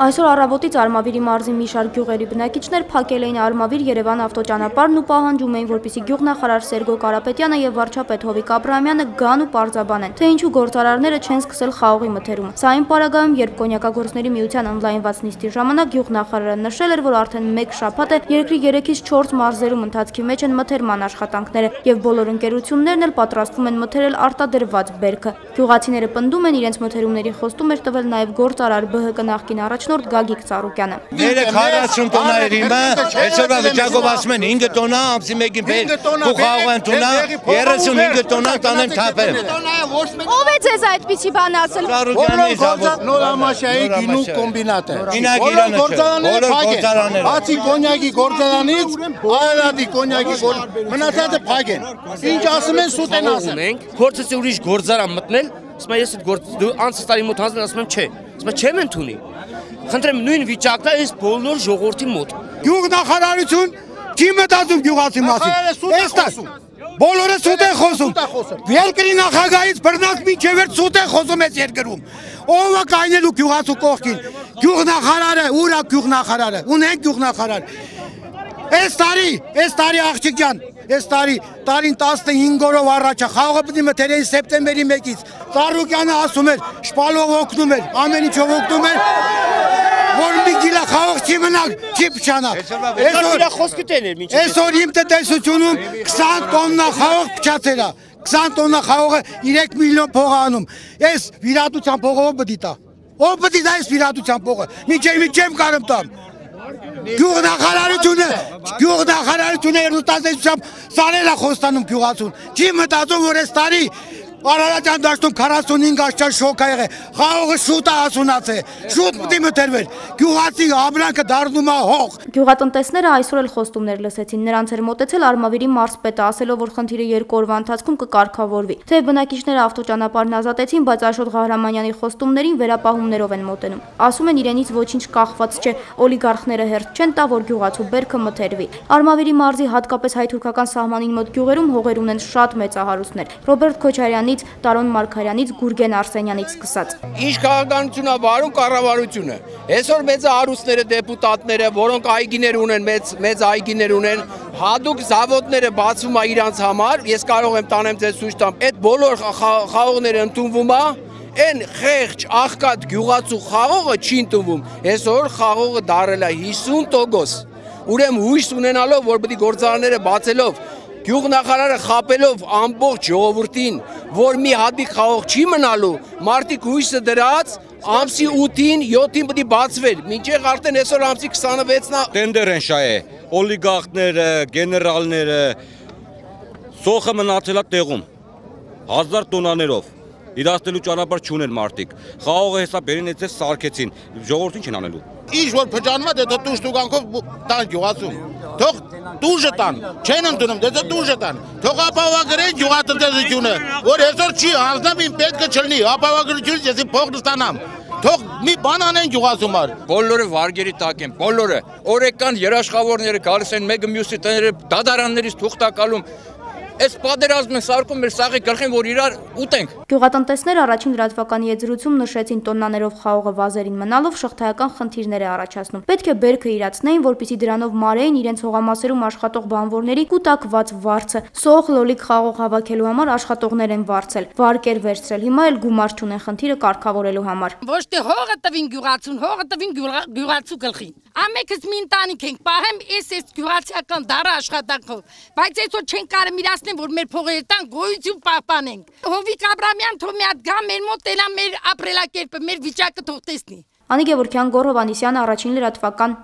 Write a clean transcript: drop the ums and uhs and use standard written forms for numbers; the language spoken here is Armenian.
Այսօր առավոտից Արմավիրի մարզի մի շարք գյուղերի բնակիչներ փակել էին Արմավիր-Երևան ավտոճանապարհն ու պահանջում էին, որպեսզի գյուղնախարար Սերգո Կարապետյանը եւ վարչապետ Հովիկ Աբրահամյանը գան ու պարզաբանեն, թե ինչու գործարարները չեն սկսել խաղողի մթերումը։ Սա այն պարագայում, երբ կոնյակագործների միության օնլայնված նիստի ժամանակ գյուղնախարարը նշել էր, որ արդեն 1 շաբաթ է երկրի 3-ից 4 մարզերում ընթացքի մեջ են մթերման աշխատանքները եւ բոլոր ընկերություններն էլ պատրաստվում են մթերել արտադրված բերքը։ Գյուղացիները պնդում են, իրենց մթերումների խոստում էր տվել նաեւ գործարար ԲՀԿ նախկին առաջնորդ Գագիկ Ծառուկյանը։ 40 տոննա էր իմը, այսօրվա վիճակով ասում են 5 տոննա, ամսի 1-ին բեր, ու խաղողան տոննա, 35 տոննա տանեմ թափեմ։ Ո՞վ է ձեզ այդպիսի բան ասել։ Նորամաշիայի գինու կոմբինատը։ Բոլոր գործարանները։ Բացի կոնյակի գործարանից, Արարատի կոնյակի մնացածը փակ են։ Ինչ ասում են սուտ են ասում։ Փորձեցի ուրիշ գործարան մտնել, ասում եմ ես այդ անցած տարի մոտ հանձնել, ասում եմ չէ։ Ասում եմ չեմ ընդունի։ Խնդրեմ նույն վիճակն է այս բոլոր ժողովրդի մոտ։ Գյուղնախարարություն չի մտածում գյուղացի մասին։ Բոլորը սուտ են խոսում։ Երկրի նախագահից բռնած մինչև սուտ են խոսում այս երկրում։ Ով է կայնելու գյուղացու կողքին։ Գյուղնախարարը, ուր է գյուղնախարարը։ Ունենք գյուղնախարար։ Այս տարի աղջիկ ջան, այս տարին 15 օրով առաջ խաղողը պիտի մթերեին սեպտեմբերի 1-ից։ Ծառուկյանը ասում էր, շպալով օգնում էր, ամեն ինչով օգնում էր, որ մի գիլա խաղող չի մնալ, չի փչանա։ Այսօր իմ տնտեսությունում 20 տոննա խաղող փչացել է, 20 տոննա խաղողը 3 միլիոն փող է անում։ Այս վիրատության փողը ով պիտի տա։ Ով պիտի տա այս վիրատության փողը։ Միջև չեմ կարում տամ։ Գյուղնախարարությունը երդուտազդեցությամբ սարել է խոստանում գյուղացուն։ Չի մտածում, որ այս տարի Արարատյան դաշտում 45 աշճան շոկ ա եղել, խաղողը շուտ է հասունացել, շուտ պիտի մթերվեր, գյուղացի ապրանքը դառնում է հող։ Գյուղատնտեսները այսօր էլ խոստումներ լսեցին, նրանց էր մոտեցել Արմավիրի մարզպետը, ասելով, որ խնդիրը 2 օրվա ընթացքում կկարգավորվի։ Թեև բնակիչները ավտոճանապարհն ազատեցին, բայց Աշոտ Ղահրամանյանի խոստումներին վերապահումներով են մոտենում։ Ասում են իրենից ոչինչ կախված չէ, օլիգարխները հերթ չեն տա, որ գյուղացու բերքը մթերվի։ Արմավիրի մարզի հատկապես հայ-թուրքական սահմանին մոտ գյուղերում հողեր ունեն շատ մեծահարուստներ։ Ռոբերտ Քոչարյանի Տարոն Մարգարյանից, Գուրգեն Արսենյանից սկսած։ Ինչ քաղաքականություն է վարում կառավարությունը։ Այսօր մեծահարուստները, դեպուտատները, որոնք այգիներ ունեն, մեծ այգիներ ունեն, հատուկ զավոդները բացվում է իրանց համար, ես կարող եմ տանեմ ձեզ ցույց տամ։ Այդ բոլոր խաղողները ընդունվում է, այն խեղճ աղքատ գյուղացու խաղողը չի ընդունվում։ Այսօր խաղողը դարել է 50%։ Ուրեմն հույս ունենալով, որ պետք է գործարանները բացելով Գյուղնախարարը խապելով ամբողջ ժողովրդին, որ մի հատիկ խաղող չի մնալու, մարդիկ հույսը դրած, ամսի 8-ին, 7-ին պետք է բացվեր, մինչև արդեն այսօր ամսի 26-ն է։ Տենդեր են շահե, օլիգարխները, գեներալները, սոխը մնացել է տեղում, 1000 տոնաներով, իրացնելու ճանապարհ չունեն մարդիկ, խաղողը հեսա բերին էցես սարքեցին, ժողովրդին չեն անելու։ Ինչ որ փճանվում է, դե տուժ տուգանքով տան գյուղացուն։ Թող տուժը տան, չեն ընդունում, դե տուժը տան։ Թող ապահովագրեն գյուղատնտեսությունը, որ այսօր չի հանձնեմ իմ պետքը չլինի, ապահովագրությունից ես փողն ստանամ։ Թող մի բան անեն գյուղացումար։ Բոլորը վարգերի տակ են, բոլորը։ Օրեկան երաշխավորները գալիս են մեկը մյուսի տները դադարաններից թուղթակալում։ Այս պատերազմը սարքում մեր սաղի գլխին, որ իրար ուտենք։ Գյուղատնտեսները առաջին լրատվականի եզրույցում նշեցին տոննաներով խաղողը վազերին մնալով շղթայական խնդիրներ է առաջացնում։ Պետք է բերքը իրացնեին, որպեսզի դրանով մարեին իրենց հողամասերում աշխատող բանվորների կուտակված վարձը։ Սող լոլիկ խաղող հավաքելու համար աշխատողներ են վարձել, վարկեր վերցրել, հիմա էլ գումար չունեն խնդիրը կարգավորելու համար։ Ոչ թե հողը տվին գյուղացուն, հողը տվին գյուղացու գլխին։ Ամենքս մի ընտանիք ենք, պահեմ այս գյուղացիական դարը աշխատանքով, բայց այսօր չեն կարող իրացնել, որ մեր փողերը տան գոյություն պահպանենք։ Հովիկ Աբրահամյան թող մի հատ գա մեր մոտ տելա մեր ապրելակերպը, մեր վիճակը թող տեսնի։ Անի Գևորգյան, Գոռ Հովհաննիսյան, Առաջին լրատվական։